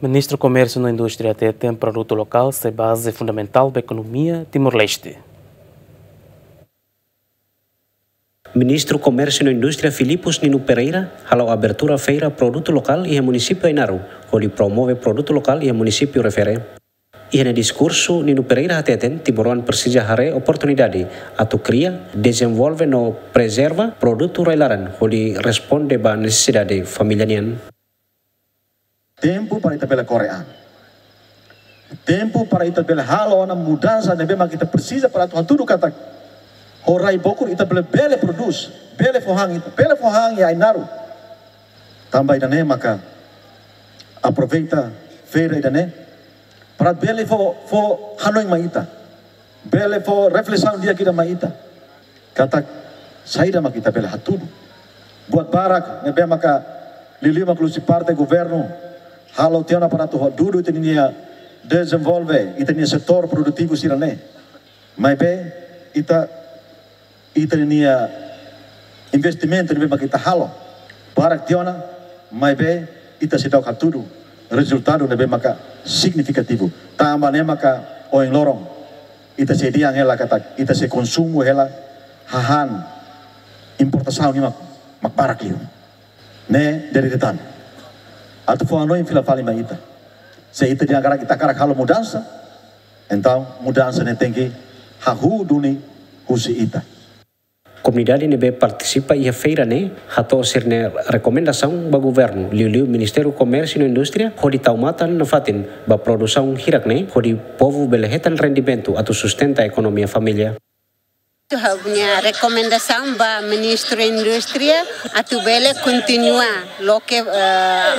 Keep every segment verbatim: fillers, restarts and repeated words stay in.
Ministru Komérsiu no Indústria hateten produtu lokál sai baze fundamentál ba ekonomia Timor-Leste. Ministru Komérsiu no Indústria Filipus Nino Pereira hala'o abertura feira produtu lokál iha munisípiu Ainaro, hodi promove produtu lokál iha munisípiu refere. Iha nia diskursu, Nino Pereira hateten timoroan presiza haree oportunidade atu kria, dezenvolve no prezerva produtu rai-laran hodi responde ba nesesidade família nian. Tempu para ita bele kore an. Tempu para ita bele halo ona mudansa ne'ebé mak ita presiza para atu hatudu katak ho rai bokur ita bele, bele prodús, bele fó han ita, bele fó han iha Ainaro. Tanba ida-ne'e maka aproveita feira ida-ne'e para bele fó, fó hanoin mai ita. Bele fó reflesaun di'ak ida mai ita. Katak saida mak ita bele hatudu. Buat barak ne'ebé maka liuliu mak husi parte governu halo tiha ona para atu hatudu ita-nia dezenvolve ita-nia setór produtivu sira-ne'e. Maibé ita, ita-nia investimentu ne'ebé maka ita halo barak tiha ona, maibé ita seidauk hatudu rezultadu ne'ebé maka signifikativu. Tanba ne'e maka ohin loron ita sei dehan hela katak ita sei konsumu hela hahán importasaun nian mak, mak barak liu. Ne'e de'it de'it tan. Atu fó hanoin fila fali mai ita. Se ita dehan katak ita hakarak halo mudansa, entaun mudansa ne'e tenke hahú duni husi ita. Komunidade ne'ebé partisipa iha feira ne'e hato'o sira-nia rekomendasaun ba governu, liuliu Ministériu Komérsiu no Indústria, hodi tau matan nafatin ba produsaun hirak ne'e, hodi povu bele hetan rendimentu atu sustenta ekonomia família. Ha'u-nia rekomendasaun ba Ministru Indústria atu bele kontinua loke, eh,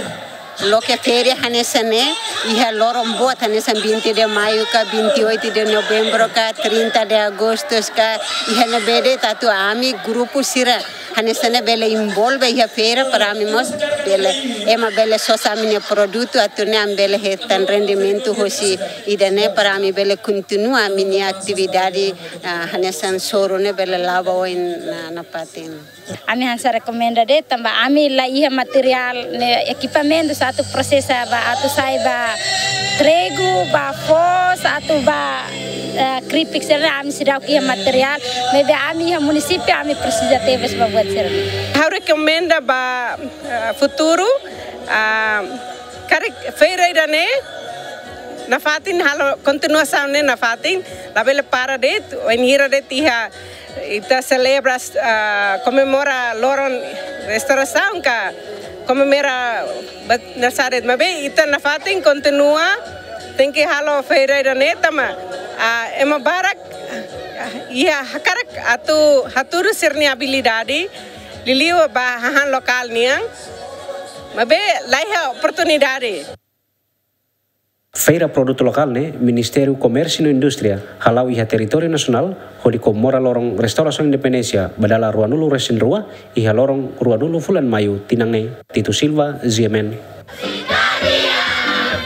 loke feira hanesan ne'e iha loron boot hanesan vinte de Maio ka, vinte e oito de Novembro ka, trinta de Agosto ka, iha ne'ebé de'it atu ami grupu sira hanesan ne'e bele envolve iha feira para ami mós bele, ema bele sosa ami-nia produtu atu nune'e ami bele hetan rendimentu hosi ida-ne'e para ami bele kontinua ami-nia atividade, ah, hanesan soru ne'e bele la'o ba oin na, nafatin. Ami hanesan rekomenda de'it tanba ami la iha materiál ne'e, ekipamentu atu prosesa ba atu sai ba trigu, ba foos, atu ba, eh, kripik sira-ne'e ami seidauk iha materiál, maibé ami iha munisípiu ami presiza tebes ba buat sira-ne'e. Ha'u rekomenda ba, eh, futuru, ah, karik feira ida-ne'e nafatin halo kontinuasaun ne'e nafatin, labele para de'it, wainhira de'it iha ita selebra, ah, komemora loron restaurasaun ka komemora ba-, aniversáriu de'it, maibé ita nafatin kontinua tenke halo feira ida-ne'e tanba, ah, ema barak, ah, iha hakarak atu hatudu sira-nia abilidade, liuliu ba hahán lokál nian, maibé la iha oportunidade. Feira produtu lokál ne'e Ministériu Komérsiu no Indústria hala'o iha territóriu nasionál hodi komemora loron restaurasaun independénsia ba dala ruanulu resin rua iha loron ruanulu fulan Maiu tinan ne'e. Tito Silva, G M N.